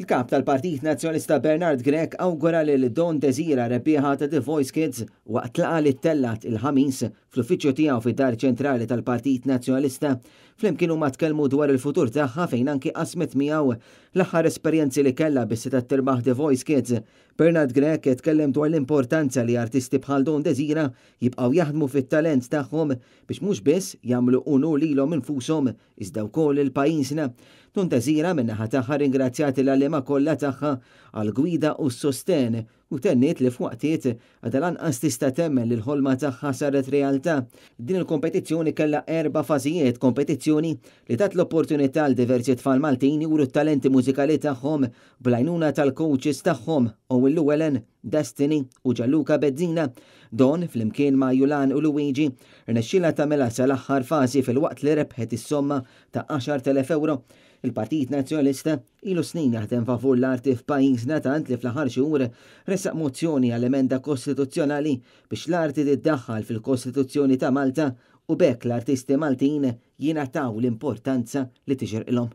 Il-Kap tal-Partit Nazzjonalista Bernard Grech awgura lil Dawn Desira rebbieħa ta' The Voice Kids waqt laqgħa li ttellgħet il-Ħamis fl-uffiċċju tiegħu fid-Dar Ċentrali tal-Partit Nazzjonalista. Flimkien huma tkellmu dwar il-futur tagħha fejn anki qasmet miegħu l-aħħar esperjenzi li kellha biex setgħet tirbaħ The Voice Kids. Bernard Grech tkellem dwar l-importanza li artisti bħal Dawn Desira jibqgħu jaħdmu fit-talent tagħhom biex mhux biss jagħmlu unur lilhom infushom iżda wkoll lil pajjiżna. Dawn Desira min-naħa tagħha rringrazzjat il-għalliema kollha tagħha għall-gwida u s-sostenn u tenniet li f'waqtiet għadha lanqas tista' temmen li l-ħolma tagħha saret realtà. Din il-kompetizzjoni kellha erba' fażijiet, kompetizzjoni li tat l-opportunità għal diversi tfal Maltin juru t-talenti mużikali tagħhom bl-għajnuna tal-coaches tagħhom Owen Llewellyn, Destiny u Gianluca Bezzina. Dawn, flimkien ma' Julan u Luigi, rnexxielha tagħmilha sal-aħħar fażi filwaqt li rebħet is-somma ta' 10,000 ewro. Il-Partit Nazzjonalista ilu snin jaħdem favur l-arti f'pajjiżna tant li fl-aħħar xhur ressaq mozzjoni għal emenda kostituzzjonali biex l-arti tiddaħħal fil-Kostituzzjoni ta' Malta u b'hekk l-artisti Maltin jingħataw l-importanza li tixirqilhom.